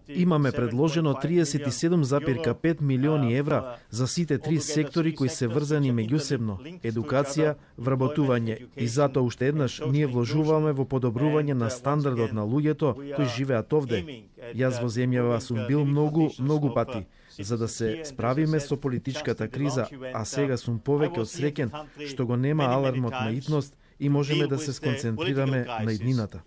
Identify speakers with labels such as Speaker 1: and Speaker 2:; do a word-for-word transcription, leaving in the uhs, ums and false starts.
Speaker 1: Имаме предложено триесет и седум запир пет милиони евра за сите три сектори кои се врзани меѓусебно: едукација, вработување, и затоа уште еднаш ние вложуваме во подобрување на стандардот на луѓето кои живеат овде. Јас во земјава сум бил многу, многу пати, за да се справиме со политичката криза, а сега сум повеќе од среќен што го нема алармот на итност и можеме да се сконцентрираме на иднината.